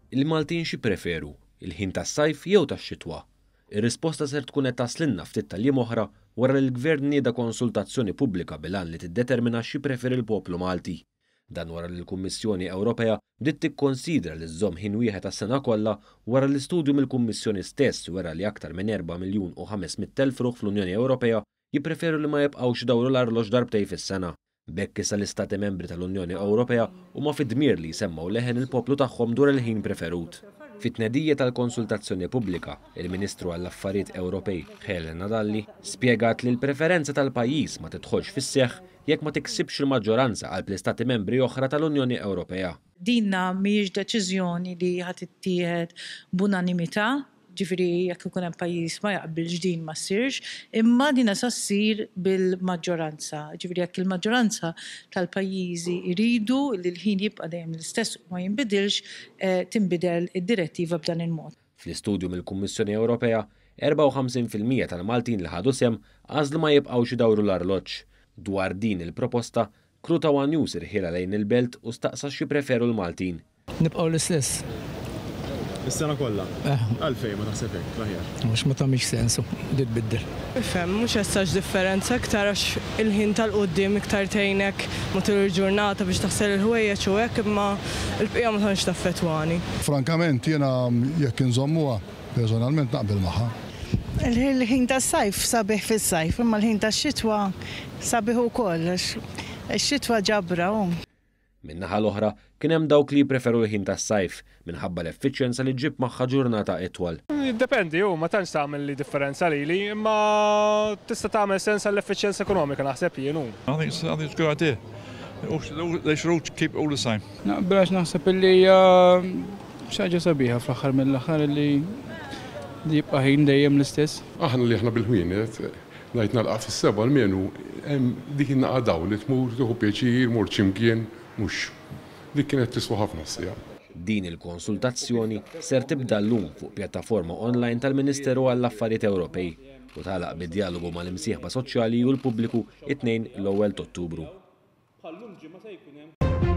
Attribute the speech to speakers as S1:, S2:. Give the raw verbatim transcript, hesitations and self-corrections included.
S1: Il-Maltin x'jippreferu, il-ħin tas-sajf jew tax-xitwa? Ir-risposta ser tkun qed taslinna ftit tal-jiem oħra wara li l-Gvern nieda konsultazzjoni pubblika bil-għan li tiddetermina x'jippreferi l-poplu Malti. Dan wara li l-Kummissjoni Ewropea bdiet tikkonsidra li żżomm ħin wieħed għas-sena kollha wara li studju mill-Kummissjoni stess wera li aktar minn erba' miljun u ħames mitt elf ruħ fl-Unjoni Ewropea jippreferu li ma jibqgħux idawru l-arloġġ darbtejn fis-sena. B'hekk issa l-Istati Membri tal-Unjoni Ewropea huma fid-dmir li jsemmgħu leħen il-poplu tagħhom dwar il-ħin preferut. Fit-tnedija tal-konsultazzjoni pubblika, il-Ministru għall-Affarijiet Ewropej Helena Dalli spjegat li l-preferenza tal-pajjiż ma tidħolx fis-seħħ jekk ma tiksibx il-maġġoranza qalb l-Istati Membri oħra tal-Unjoni Ewropea.
S2: Dinna mhijiex deċiżjoni li ħa tittieħed b'unanimità, ġifieri jekk ikun hemm pajjiż ma jaqbilx din ma ssirx, imma dina sa ssir bil-maġġoranza. Ġifieri jekk il-maġġoranza tal-pajjiżi jridu li l-ħin jibqa' dejjem l-istess u ma jinbidilx, tinbidel id-direttiva b'dan il-mod.
S1: Fl-istudju mill-Kummissjoni Ewropea, erbgħa u ħamsin fil-mija tal-Maltin li ħadu sehem għażlu ma jibqgħux idawru l-arloġġ. Dwar din il-proposta, Crew ta' One News irħiela lejn il-belt u staqsa x'jippreferu l-Maltin.
S3: Nibqgħu l-istess.
S4: Is-sena kollha?
S3: Eh.
S4: Għalfejn ma taħseb hekk, l-aħjar?
S3: Mhux ma tagħmilx sens li tbiddel.
S5: Ifhem, mhux essax differenza iktar għax il-ħin tal-quddiem iktar tgħinek matul il-ġurnata biex taħsel il-ħwejjeġ u hekk, imma l-bqija ma tantx taffettwani.
S6: Frankament jiena jekk inżommuha personalment naqbel magħha.
S7: Il-ħin tas-sajf sabiħ fis-sajf, imma l-ħin tax-xitwa sabiħ ukoll, għax ix-xitwa ġabra hu.
S1: Min-naħa l-oħra, kien hemm dawk li jippreferu l-ħin tas-sajf minħabba l-effiċjenza li ġġib magħha ġurnata itwal.
S8: Jiddependi, hu ma tantx tagħmel li differenza lili, imma tista' tagħmel sens għall-effiċjenza ekonomika naħseb jien hu.
S9: I think it's, I think it's a good idea. They should all keep it all the same.
S10: Naqbel għax naħseb illi hija xi ħaġa sabiħa fl-aħħar mill-aħħar illi jibqa' ħin dejjem l-istess.
S11: Aħna li aħna bil-ħwienet, ngħid nalqa' fis-seba' almenu hemm dik in-naqa' dawl li tmur tieħu pjaċir, mur x'imkien, mhux dik kienet tiswa ħafna s-sija.
S1: Din il-konsultazzjoni ser tibda llum fuq pjattaforma online tal-Ministeru għall-Affarijiet Ewropej u tagħlaq bid-dialogu mal-imsieħba soċjali u l-pubbliku it-tnejn l-ewwel t'Ottubru.
S12: Bħal-lum ġimgħa se jkun hemm